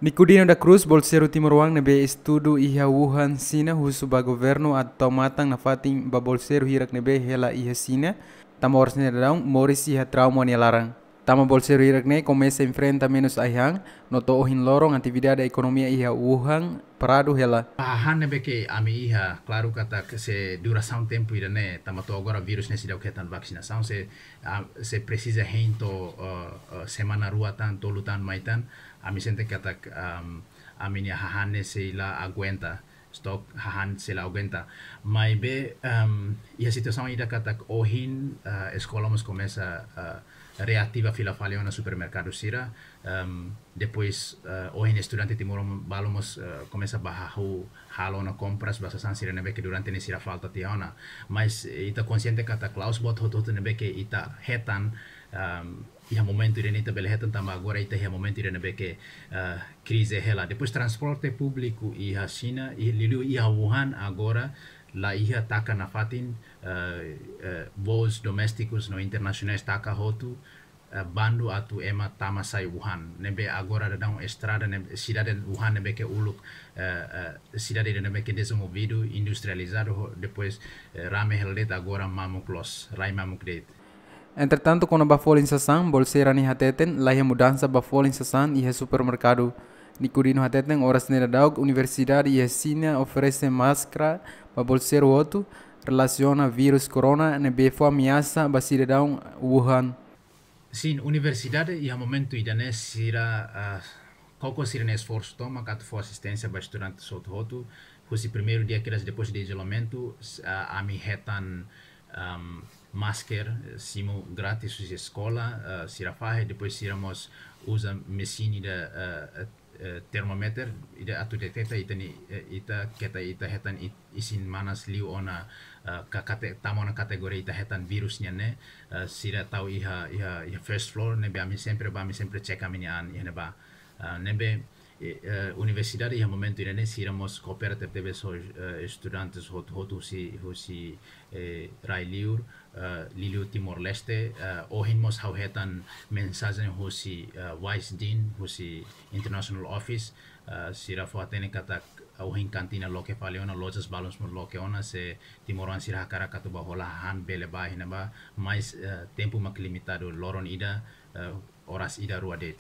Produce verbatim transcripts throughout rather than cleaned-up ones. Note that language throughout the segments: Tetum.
Nicodino da Cruz, bolseiru timoroan ne'ebé estuda iha Wuhan, Xina, husu ba governu atu tau matan nafatin ba bolseiru hirak ne'ebé hela iha Xina, tanba oras ne'e daudaun moris iha trauma nia laran. Tanba bolseiru hirak ne'e komesa enfrenta menus ai-han, no to'o ohin loron atividade ekonomia iha Wuhan paradu hela. Hahán ne'ebé ke ami iha, klaru katak se durasaun tempu ida-ne'e, tanba to'o agora virus ne'e seidauk hetan vaksinasaun, se, ah, se presiza hein to'o, eh, eh, semana rua tan, tolu tan mai tan, ami sente katak, am, ami-nia hahán ne'e sei la aguenta, stok hahán sei la aguenta. Maibé, am, iha situasaun ida katak ohin, eh, eskola mós komesa, eh, reativa fila fali ona supermerkadu sira, am, depois, eh, ohin estudante timoroan balu mós, eh, komesa bá hahú halo ona kompras ba sasán sira ne'ebé ke durante ne'e sira falta tiha ona. Mas, eh, ita konxiente katak la'ós buat hotu-hotu ne'ebé ke ita hetan, am, iha momentu ida-ne'e ita bele hetan tanba agora ita iha momentu ida ne'ebé ke, eh, krize hela. Depois transporte públiku iha Xina, i liuliu iha Wuhan agora la iha taka nafatin, eh, eh, voos doméstikus no internasionais taka hotu, eh, bandu atu ema tama sai Wuhan. Ne'ebé agora daudaun estrada ne'e, sidade Wuhan ne'ebé ke uluk, eh, eh, sidade ida ne'ebé ke dezenvolvidu, industrializadu, ho-, depois, eh, rame hela de'it, agora mamuk loos, rai mamuk de'it. Entretantu, kona-ba folin sasán, bolseira ne'e hateten, la iha mudansa ba folin sasán iha supermerkadu. Nicodino hateten, oras ne'e daudaun, universidade iha Xina oferese máskara ba bolseiru hotu, relasiona virus corona ne'ebé fó ameasa ba sidadaun Wuhan. Sin, universidade iha momentu ida-ne'e sira, ah, koko sira-nia esforsu tomak atu fó asisténsia ba estudante hotu-hotu, husi primeiru dia kedas depois de izolamentu, s-, ah, ami hetan, am, masker, eh, simu grátis husi eskola, ah, sira fahe, depois sira mós uza mesin ida, eh, eh, termometer, ida atu deteta ita-nia, eh, ita keta ita hetan i-, isin manas liu ona, eh, ka kate-, tama ona kategoria ita hetan virus nian ne'e, eh, sira tau iha, iha, iha first floor, ne'ebé ami sempre bá, ami sempre cek ami-nia an iha ne'ebá. Ah, ne'ebé, eh, eh, universidade iha momentu ida-ne'e sira mós koopera tebetebes ho, eh, estudantes hotu-hotu husi, husi, eh, rai liur, eh, liuliu Timor-Leste, eh, ohin mós ha'u hetan mensajen husi, eh, Vice Dean, husi International Office, eh, sira fó hatene katak ohin kantina loke fali ona, lojas balun mós loke ona, se timoroan sira hakarak atu bá hola hahán bele bá iha ne'ebá, mas, eh, tempu mak limitadu, loron ida, eh, oras ida rua de'it.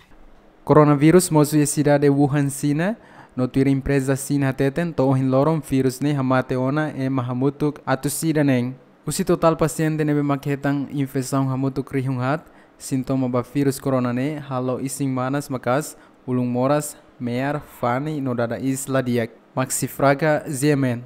Coronavirus mosu iha sidade Wuhan, Xina, no tuir empreza Xina hateten, to'o ohin loron virus ne'e hamate ona ema hamutuk atus ida neen. Husi totál pasiente ne'ebé mak hetan infesaun hamutuk rihun haat, sintoma ba virus corona ne'e halo isin manas maka'as, ulun moras, mear, fani no dada iis la di'ak. Maxi Fraga, G M N.